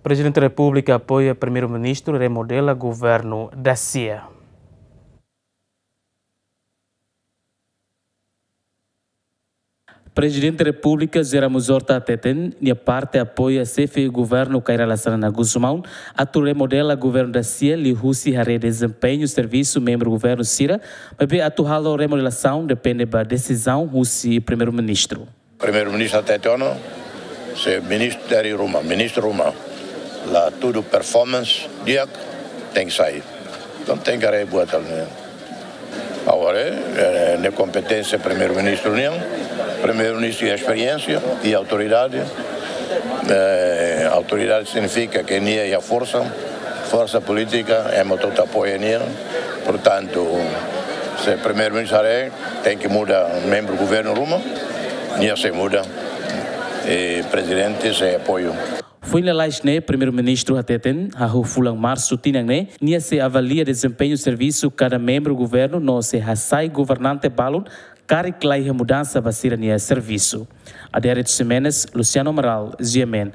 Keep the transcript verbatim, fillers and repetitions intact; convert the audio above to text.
Prezidente Repúblika apoia Primeiru-Ministru remodela governu Dacia. Prezidente Repúblika José Ramos Horta hateten, nia parte apoia Xefe Governu Kay Rala Xanana Gusmão atu remodela governu Dacia liuhusi haree dezempeñu servisu membru governu sira, maibé atu halo remodelasaun depende ba desizaun husi Primeiru-Ministru. Primeiru-Ministru hatete ona, se ministru dari ruma, ministru ruma, la tudu performance di'ak, tenke sai. Entaun tenke haree buat halo ne'e. Agora, eh, ne'e kompeténsia Primeiru-Ministru nian, Primeiru-Ministru iha esperiénsia, iha autoridade. Eh, autoridade signifika ke nia iha forsa, forsa polítika, ema hotu apoia nia. Portantu, se Primeiru-Ministru haree, tenke muda membru governu ruma, nia sei muda. I Prezidente sei apoiu. Foin lalais ne'e, Primeiru-Ministru hateten, hahú fulan Marsu tinan ne'e, nia sei avalia dezempeñu servisu kada membru governu no sei hasai governante balun karik la iha mudansa ba sira-nia servisu. Adérito Ximenes, Luciano Amaral, G M N.